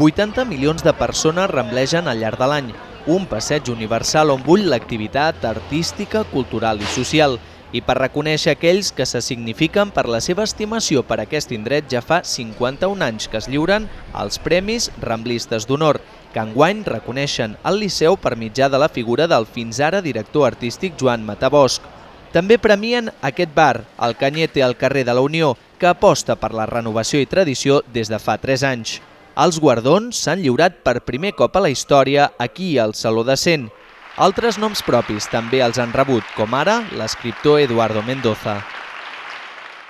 80 milions de persones ramblegen al llarg de l'any, un passeig universal on bull l'activitat artística, cultural i social. I per reconèixer aquells que se signifiquen per la seva estimació per aquest indret ja fa 51 anys que es lliuren els Premis Ramblistes d'Honor, que enguany reconeixen al Liceu per mitjà de la figura del fins ara director artístic Joan Matabosch. També premien aquest bar, el Canyete al carrer de la Unió, que aposta per la renovació i tradició des de fa 3 anys. Els guardons s'han lliurat per primer cop a la història aquí al Saló de Cent. Altres noms propis també els han rebut, com ara l'escriptor Eduardo Mendoza.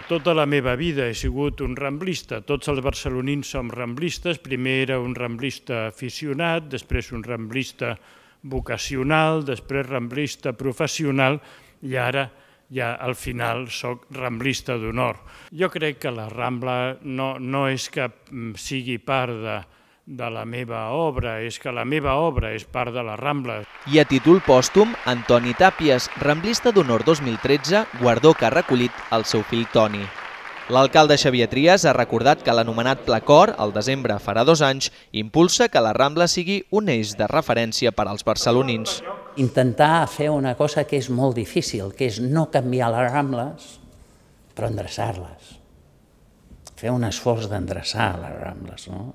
Tota la meva vida he sigut un ramblista. Tots els barcelonins som ramblistes. Primer era un ramblista aficionat, després un ramblista vocacional, després ramblista professional i ara ja al final soc ramblista d'honor. Jo crec que la Rambla no és que sigui part de la meva obra, és que la meva obra és part de la Rambla. I a títol pòstum, Antoni Tàpies, ramblista d'honor 2013, guardó que ha recollit el seu fill Toni. L'alcalde Xavier Trias ha recordat que l'anomenat Pla Cor, al desembre farà 2 anys, impulsa que la Rambla sigui un eix de referència per als barcelonins. Intentar fer una cosa que és molt difícil, que és no canviar les Rambles, però endreçar-les. Fer un esforç d'endreçar les Rambles, no?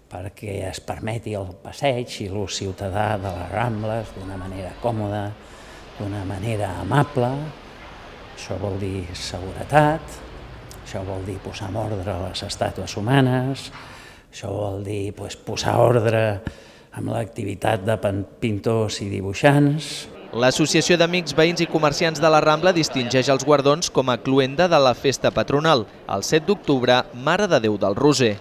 Perquè es permeti el passeig i l'ús ciutadà de les Rambles d'una manera còmoda, d'una manera amable. Això vol dir seguretat, això vol dir posar en ordre les estàtues humanes, això vol dir posar ordre amb l'activitat de pintors i dibuixants. L'Associació d'Amics, Veïns i Comerciants de la Rambla distingeix els guardons com a cloenda de la festa patronal, el 7 d'octubre, Mare de Déu del Roser.